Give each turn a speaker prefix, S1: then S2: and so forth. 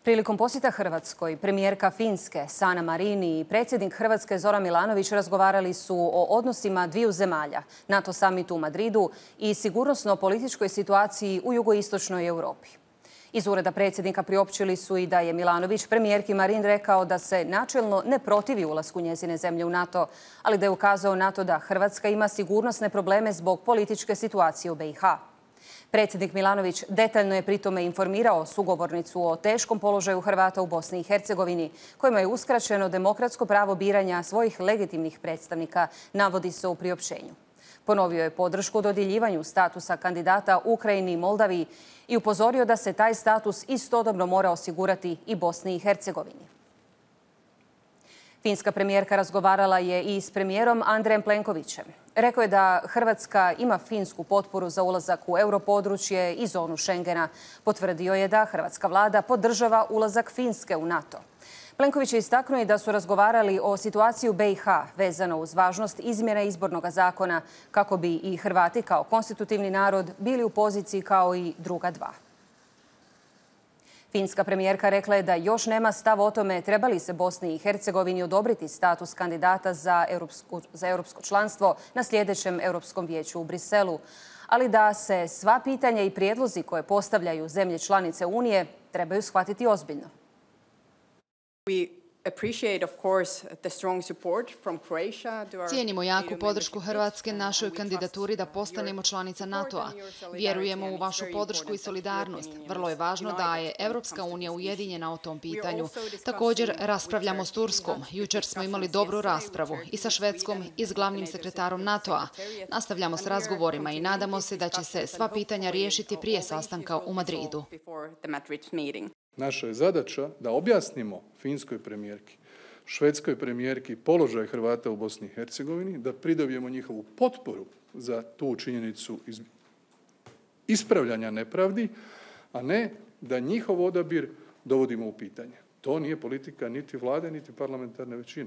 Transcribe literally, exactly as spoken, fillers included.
S1: Prilikom posjeta Hrvatskoj, premijerka Finske Sanna Marin i predsjednik Hrvatske Zoran Milanović razgovarali su o odnosima dviju zemalja, NATO samitu u Madridu i sigurnosno-političkoj situaciji u jugoistočnoj Europi. Iz ureda predsjednika priopćili su i da je Milanović premijerki Marin rekao da se načelno ne protivi ulasku njezine zemlje u NATO, ali da je ukazao na to da Hrvatska ima sigurnosne probleme zbog političke situacije u B i H. Predsjednik Milanović detaljno je pritome informirao sugovornicu o teškom položaju Hrvata u Bosni i Hercegovini, kojima je uskraćeno demokratsko pravo biranja svojih legitimnih predstavnika, navodi se u priopćenju. Ponovio je podršku dodjeljivanju statusa kandidata Ukrajini i Moldaviji i upozorio da se taj status istodobno mora osigurati i Bosni i Hercegovini. Finska premijerka razgovarala je i s premijerom Andrejem Plenkovićem. Rekao je da Hrvatska ima finsku potporu za ulazak u europodručje i zonu Schengena. Potvrdio je da hrvatska vlada podržava ulazak Finske u NATO. Plenković je istaknuo i da su razgovarali o situaciji u B i H vezano uz važnost izmjene izbornog zakona kako bi i Hrvati kao konstitutivni narod bili u poziciji kao i druga dva. Finska premijerka rekla je da još nema stav o tome treba li se Bosni i Hercegovini odobriti status kandidata za europsko, za europsko članstvo na sljedećem Europskom vijeću u Briselu, ali da se sva pitanja i prijedlozi koje postavljaju zemlje članice Unije trebaju shvatiti ozbiljno.
S2: Cijenimo jaku podršku Hrvatske našoj kandidaturi da postanemo članica NATO-a. Vjerujemo u vašu podršku i solidarnost. Vrlo je važno da je Europska unija ujedinjena o tom pitanju. Također raspravljamo s Turskom. Jučer smo imali dobru raspravu i sa Švedskom i s glavnim sekretarom NATO-a. Nastavljamo s razgovorima i nadamo se da će se sva pitanja riješiti prije sastanka u Madridu.
S3: Naša je zadaća da objasnimo finskoj premijerki, švedskoj premijerki položaj Hrvata u Bosni i Hercegovini, da pridobijemo njihovu potporu za tu činjenicu ispravljanja nepravdi, a ne da njihov odabir dovodimo u pitanje. To nije politika niti vlade, niti parlamentarne većine.